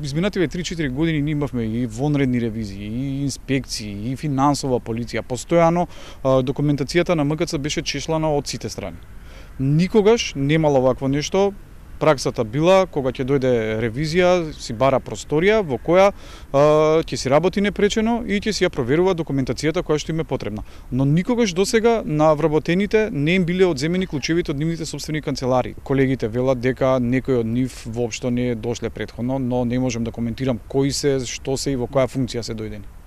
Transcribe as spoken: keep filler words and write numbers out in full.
Изминативе три-четири години ние имавме и вонредни ревизии, и инспекции, и финансова полиција. Постојано документацијата на МКЦ беше чешлана од сите страни. Никогаш немало вакво нешто. Праксата била, кога ќе дојде ревизија, си бара просторија во која а, ќе си работи непречено и ќе си ја проверува документацијата која што им е потребна. Но никогаш досега на вработените не им биле одземени клучевите од нивните сопствени канцелари. Колегите велат дека некој од нив воопшто не дошле претходно, но не можам да коментирам кои се, што се и во која функција се дојдени.